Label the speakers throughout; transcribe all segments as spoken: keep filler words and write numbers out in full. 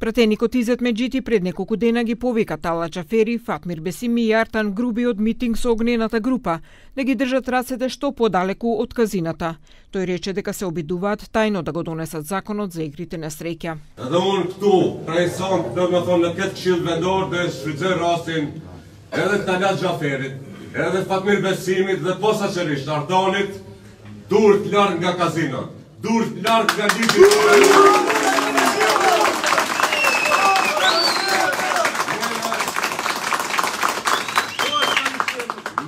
Speaker 1: Пратеникот Изет Меджити пред неколку дена ги повика Талат Џафери, Фатмир Бесими и Артан Груби од митинг со огнената група да ги држат рацете што подалеку од казината. Тој рече дека се обидуваат тајно да го донесат законот за игрите на среќа.
Speaker 2: Edhe unë këtu, prej son, do me thonë në këtë këshill vendor dhe shfrytëzoj rastin edhe Talat Џaferit, edhe Fatmir Besimit dhe posaçërisht Artanit, durët larg nga kazinat, durët larg nga ligji.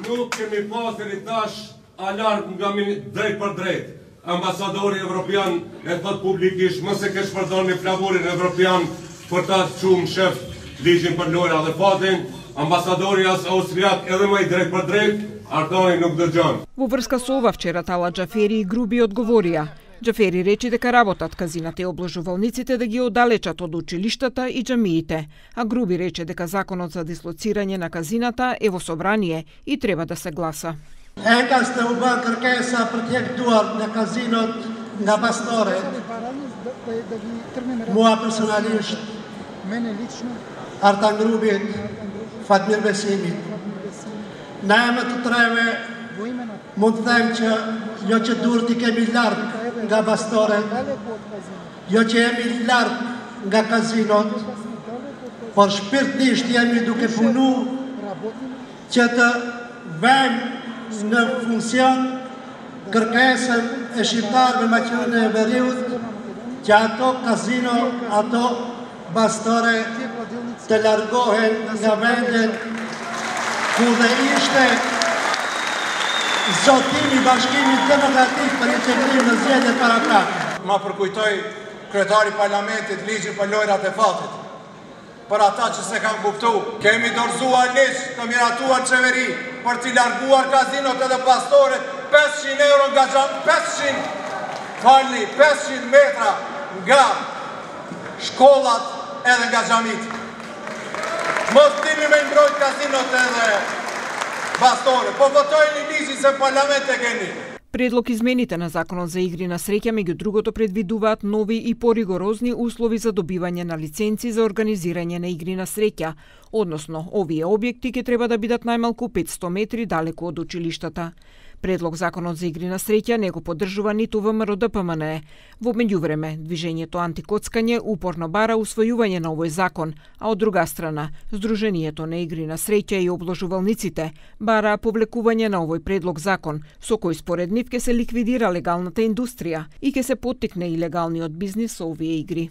Speaker 2: Nuk kemi pasur i tash alarm nga drejt për drejt. Ambasadori evropian e thot publikisht mos e kesh përdorni flamurin evropian për ta çuar shef ligjin për lojra dhe fatin. Ambasadori as austriak edhe më i drejt për drejt, Артани nuk dëgjon.
Speaker 1: Во врска со ова вчера Талат Џафери и Груби одговорија. Џафери рече дека работат казината и обложувалниците да ги оддалечат од училиштата и џамиите, а Груби рече дека законот за дислоцирање на казината е во собрание и треба да се гласа.
Speaker 3: Ека сте u bën kërkesa për të jektuar në kazinot nga pastore. Mua personalisht, Artan Grubit, Fatmir Besimit. Na emër të treve mund të them që jo që durët i kemi larg nga pastore, jo që jemi larg nga kazinot, por shpirtisht jemi duke punu që të vëmë në funksion kërkesën e shqiptarëve Maqedoninë e Veriut që ato kazino, ato pastore të largohen nga vendet ku dhe ishte zotimi Bashkimit Demokratik për integrim në zgjedhje paraprake.
Speaker 4: Ma përkujtoj kryetari parlamentit ligjin për lojrat e fatit. Për ata që se kanë kuptu, kemi dorëzuar ligj të miratuar qeveri për t'i larguar kazinot edhe pastoret pesëqind euro nga gjam, pesëqind, falni, pesëqind metra nga shkollat edhe nga xhamit. Mos dini me mbrojt kazinot edhe pastoret, po votojni ligjin se parlament e keni.
Speaker 1: Предлог измените на Законот за игри на среќа меѓу другото предвидуваат нови и поригорозни услови за добивање на лиценци за организирање на игри на среќа, односно овие објекти ќе треба да бидат најмалку петсто метри далеку од училиштата. Предлог Законот за игри на среќа не го поддржува ниту ВМРО Д П М Н Е. Во меѓувреме, движењето антикоцкање упорно бара усвојување на овој закон, а од друга страна, Сдруженијето на игри на среќа и обложувалниците бара повлекување на овој предлог закон, со кој според нив ќе се ликвидира легалната индустрија и ќе се поттикне и легалниот бизнис со овие игри.